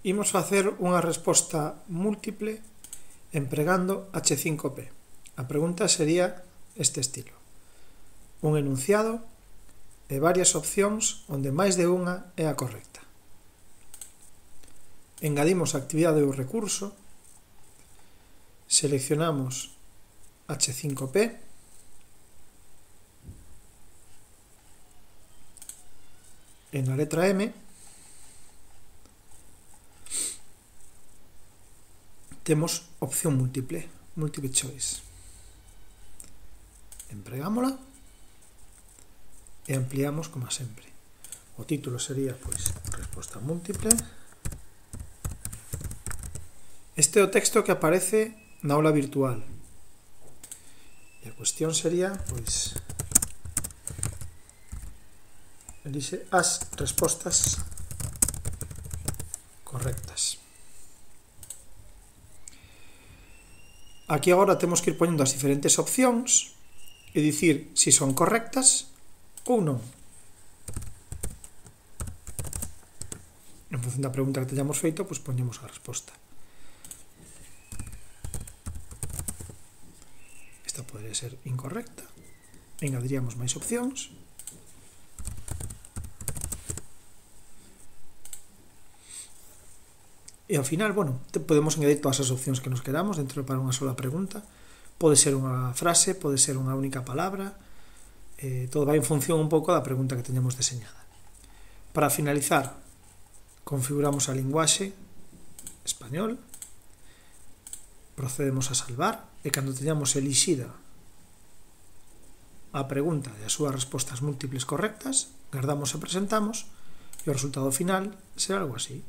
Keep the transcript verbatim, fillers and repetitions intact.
Imos facer unha resposta múltiple empregando hache cinco pe. A pregunta sería este estilo: un enunciado e varias opcións onde máis de unha é a correcta. Engadimos a actividade ou recurso, seleccionamos hache cinco pe, e na letra M temos opción múltiple, multiple choice. Empregámola e ampliamos como sempre. O título sería, pois, resposta múltiple. Este é o texto que aparece na aula virtual. E a cuestión sería, pois, elixe as respostas correctas. Aquí agora temos que ir poñendo as diferentes opcións e dicir se son correctas ou non. En función da pregunta que teñamos feito, pois poñemos a resposta. Esta podría ser incorrecta. Engadiríamos máis opcións. E ao final, bueno, podemos engadir todas as opcións que nos queramos dentro para unha sola pregunta. Pode ser unha frase, pode ser unha única palabra, eh, todo vai en función un pouco da pregunta que teñamos deseñada. Para finalizar, configuramos a linguaxe español, procedemos a salvar e cando teñamos elixida a pregunta e as súas respostas múltiples correctas, guardamos e presentamos e o resultado final será algo así.